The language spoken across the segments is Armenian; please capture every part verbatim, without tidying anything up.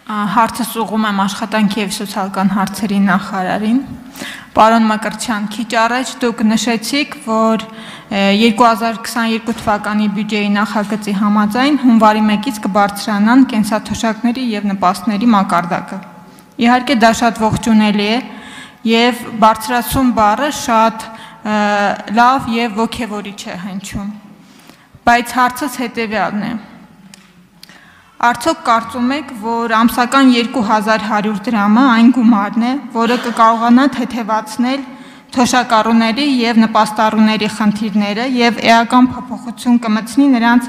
Հարցս ուղղում եմ աշխատանքի և սոցիալական հարցերի նախարարին։ Պարոն Մկրտչյան, քիչ առաջ դուք նշեցիք, որ երկու հազար քսաներկու թվականի բյուջեի նախագծի համաձայն հունվարի մեկից կբարձրանան կենսաթոշակների և նպաստների մակարդակը։ Իհարկե դա շատ ողջունելի է և բարձրացում բառը շատ լավ և ոգևորիչ է հնչում, բայց հարցս հետևյալն է. Արդյոք կարծում եք, որ ամսական երկու հազար հարյուր դրամը այն գումարն է, որը կկարողանա թեթևացնել թոշակառուների և նպաստառուների խնդիրները և էական փոփոխություն կմտցնի նրանց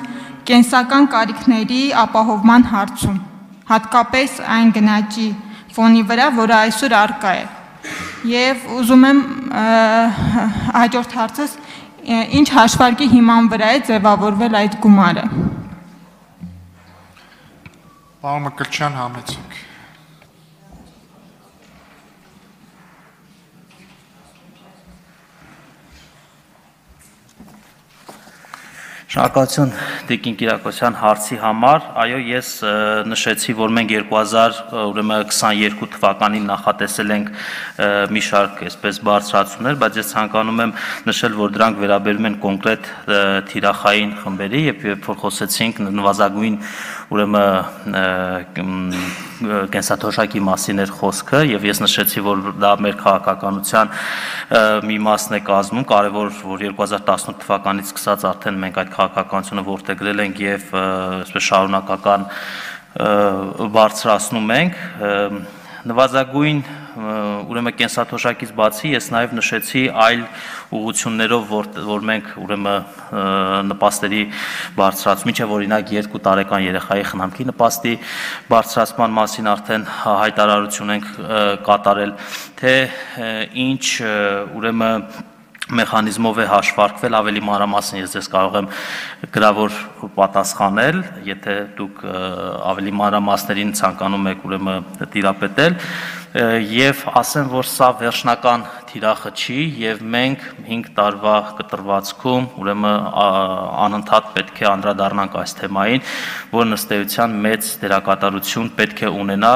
կենսական կարիքների ապահովման հարցում, հատկապես այն գնաճի ֆոնի վրա, որը այսօր առկա է։ Եվ ուզում եմ հաջորդ հարցս, ինչ հաշվարկի հիման վրա է ձևավորվել այդ գումարը։ Պարոն Մկրտչյան, համեցեք։ Շնորհակալություն Տիկին Կիրակոսյան հարցի համար, այո, ես նշեցի, որ մենք երկու հազար քսաներկու թվականին նախատեսել ենք մի շարք այսպես բարձրացումներ, բայց ես ցանկանում եմ նշել, որ դրանք վերաբերում են կոնկրետ թիրախային խմբերի, եւ երբ որ խոսեցինք նվազագույն ուրեմն կենսաթոշակի մասին էր խոսքը, եւ ես նշեցի, որ դա մեր քաղաքականության մի մասն է կազմում, կարևոր, որ երկու հազար տասնութ թվականից սկսած արդեն մենք այդ քաղաքականությունը որդեգրել ենք եւ այսպես շարունակական բարձրացնում ենք, նվազագույն ուրեմն կենսաթոշակից բացի ես նաև նշեցի այլ ուղղություններով, որ, որ մենք ուրեմն նպաստերի բարձրացում, ինչը օրինակ երկու տարեկան երեխայի խնամքի նպաստի բարձրացման մասին արդեն հայտարարություն ենք կատարել, թե ինչ ուրեմն մեխանիզմով է հաշվարկվել, ավելի մանրամասն ես ձեզ կարող եմ գրավոր պատասխանել, եթե դուք ավելի մանրամասներին ցանկանում եք ուրեմն տիրապետել, եւ ասեմ, որ սա վերջնական թիրախը չի եւ մենք հինգ տարվա կտրվածքում ուրեմն անընդհատ պետք է անդրադառնանք այս թեմային, որ ըստ էության մեծ դերակատարություն պետք է ունենա,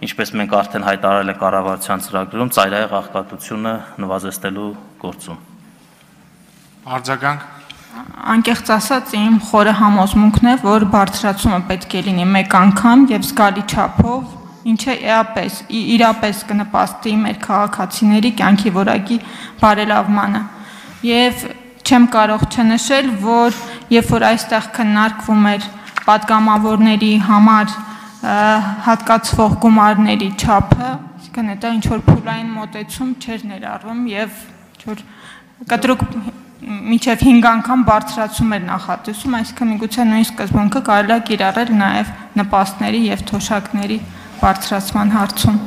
ինչպես մենք արդեն հայտարարել ենք կառավարության ծրագրում, ծայրահեղ աղքատությունը նվազեցնելու գործում։ Արձագանք։ Անկեղծ ասած, իմ խորը համոզմունքն է, որ բարձրացումը պետք է լինի մեկ անգամ եւ զգալի չափով, ինչը իրապես, իրապես կնպաստի մեր քաղաքացիների կյանքի որակի բարելավմանը։ Եվ չեմ կարող չնշել, որ երբ որ այստեղ քննարկվում էր պատգամավորների համար հատկացվող գումարների չափը, այսինքն դա ինչ որ փուլային մոտեցում չէր ներառվում եւ ինչ-որ կտրուկ մինչև հինգ անգամ բարձրացում էր նախատեսում, այսինքն միգուցե նույն սկզբունքը կարելի է կիրառել նաեւ նպաստների եւ թոշակների բարձրացման հարցում։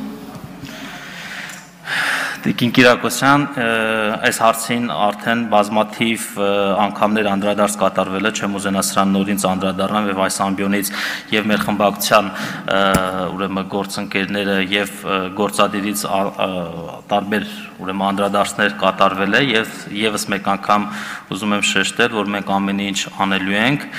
Տիկին Կիրակոսյան, այս հարցին արդեն բազմաթիվ անգամներ անդրադարձ կատարվել է, չեմ ուզենա սրան նորից անդրադառնամ եւ այս ամբիոնից եւ մեր խմբակցության ուրեմն գործընկերները եւ գործադիրից տարբեր ուրեմն անդրադարձներ կատարվել է եւ եւս մեկ անգամ ուզում եմ շեշտել, որ մենք ամեն ինչ անելու ենք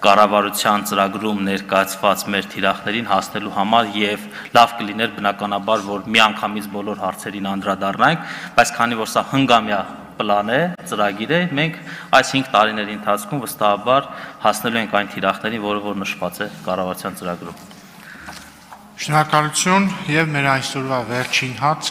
կառավարության ծրագրում ներկայացված մեր թիրախներին հասնելու համար եւ լավ կլիներ բնականաբար, որ միանգամից բոլոր հարցերին անդրադառնանք, բայց քանի որ սա հնգամյա պլան է, ծրագիր է, մենք այս հինգ տարիների ընթացքում վստահաբար հասնելու ենք այն թիրախներին, որը որ նշված է կառավարության ծրագրում։ Շնորհակալություն եւ մեր այսօրվա վերջին հարցը